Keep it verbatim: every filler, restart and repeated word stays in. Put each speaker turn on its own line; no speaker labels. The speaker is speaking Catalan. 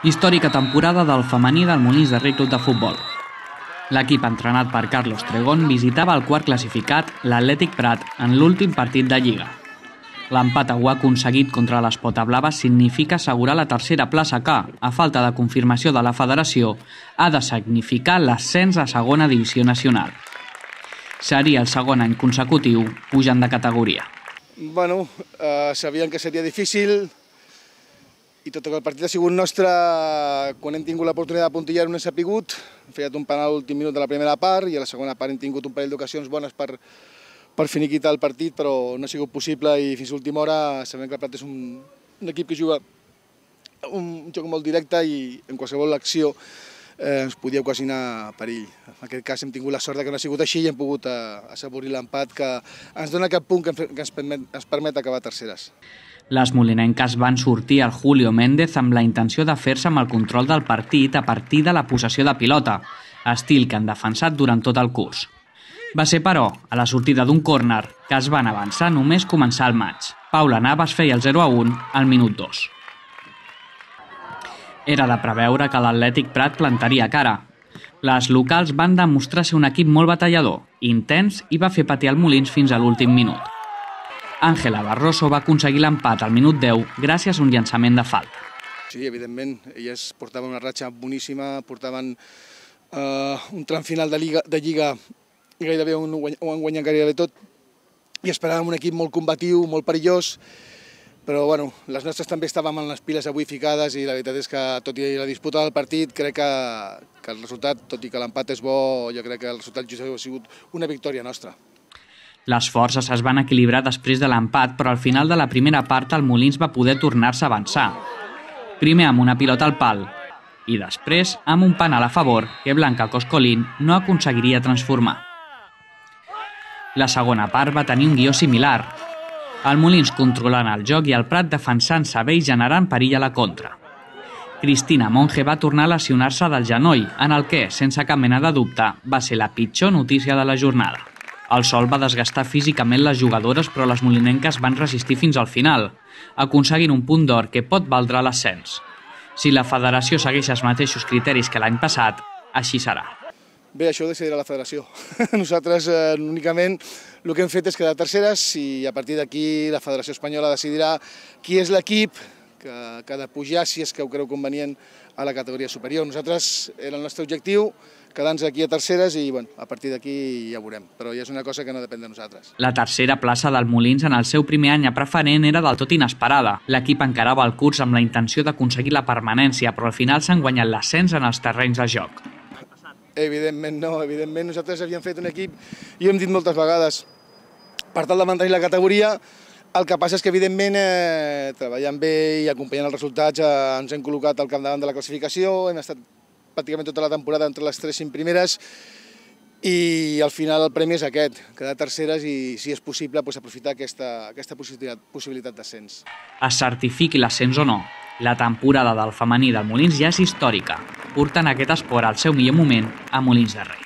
Històrica temporada del femení del Molins de Rei Club de Futbol. L'equip entrenat per Carlos Tregón visitava el quart classificat, l'Atlètic Prat, en l'últim partit de Lliga. L'empat ho ha aconseguit contra l'Espota Blava significa assegurar la tercera plaça que, a falta de confirmació de la federació, ha de significar l'ascens a segona divisió nacional. Seria el segon any consecutiu pujant de categoria.
Bueno, eh, sabíem que seria difícil i tot i que el partit ha sigut nostre, quan hem tingut l'oportunitat de puntillar no hem sapigut. Hem fallat un penal a l'últim minut de la primera part i a la segona part hem tingut un parell d'ocasions bones per, per finiquitar el partit, però no ha sigut possible i fins a l'última hora sabem que el Prat és un, un equip que juga un joc molt directe i en qualsevol acció eh, ens podia ocasionar perill. En aquest cas hem tingut la sort que no ha sigut així i hem pogut eh, assaborir l'empat que ens dona cap punt que ens permet, ens permet acabar terceres.
Les molinenques van sortir al Julio Méndez amb la intenció de fer-se amb el control del partit a partir de la possessió de pilota, estil que han defensat durant tot el curs. Va ser, però, a la sortida d'un córner que es van avançar només començar el maig. Paula Navas feia el zero a un al minut dos. Era de preveure que l'Atlètic Prat plantaria cara. Les locals van demostrar ser un equip molt batallador, intens i va fer patir el Molins fins a l'últim minut. Ángela Barroso va aconseguir l'empat al minut deu gràcies a un llançament de falta.
Sí, evidentment, elles portaven una ratxa boníssima, portaven eh, un tram final de Lliga, de Lliga i gairebé ho han guanyat gairebé tot i esperàvem un equip molt combatiu, molt perillós, però bueno, les nostres també estàvem amb les piles avui ficades i la veritat és que tot i la disputa del partit crec que, que el resultat, tot i que l'empat és bo, jo crec que el resultat just ha sigut una victòria nostra.
Les forces es van equilibrar després de l'empat, però al final de la primera part el Molins va poder tornar-se a avançar. Primer amb una pilota al pal i després amb un penal a favor que Blanca Coscolín no aconseguiria transformar. La segona part va tenir un guió similar. El Molins controlant el joc i el Prat defensant-se bé i generant perill a la contra. Cristina Monge va tornar a lesionar-se del genoll, en el que, sense cap mena de dubte, va ser la pitjor notícia de la jornada. El sol va desgastar físicament les jugadores, però les molinenques van resistir fins al final, aconseguint un punt d'or que pot valdre l'ascens. Si la federació segueix els mateixos criteris que l'any passat, així serà.
Bé, això ho decidirà la federació. Nosaltres eh, únicament el que hem fet és quedar terceres i a partir d'aquí la Federació Espanyola decidirà qui és l'equip que, que ha de pujar, si és que ho creu convenient, a la categoria superior. Nosaltres era el nostre objectiu, quedar-nos aquí a terceres i bueno, a partir d'aquí ja ho veurem, però ja és una cosa que no depèn de nosaltres.
La tercera plaça del Molins en el seu primer any a preferent era del tot inesperada. L'equip encarava el curs amb la intenció d'aconseguir la permanència, però al final s'han guanyat l'ascens en els terrenys de joc.
Evidentment no, evidentment nosaltres havíem fet un equip, i ho hem dit moltes vegades, per tal de mantenir la categoria. El que passa és que, evidentment, eh, treballant bé i acompanyant els resultats, eh, ens hem col·locat al capdavant de la classificació, hem estat pràcticament tota la temporada entre les tres cinc primeres i al final el premi és aquest, quedar terceres i, si és possible, doncs, aprofitar aquesta, aquesta possibilitat, possibilitat d'ascens.
Es certifiqui l'ascens o no, la temporada del femení del Molins ja és històrica, portant aquest esport al seu millor moment a Molins de Rei.